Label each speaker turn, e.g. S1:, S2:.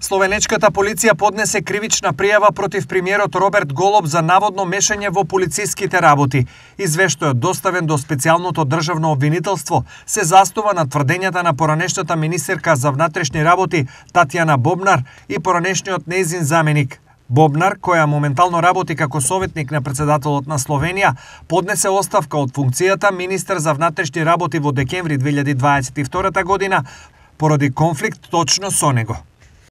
S1: Словенечката полиција поднесе кривична пријава против премиерот Роберт Голоб за наводно мешање во полициските работи. Извештајот доставен до специјалното државно обвинителство се застува на тврдењата на поранешната министерка за внатрешни работи Татјана Бобнар и поранешниот нејзин заменик. Бобнар, која моментално работи како советник на председателот на Словенија, поднесе оставка од функцијата министер за внатрешни работи во декември 2022 година поради конфликт точно со него.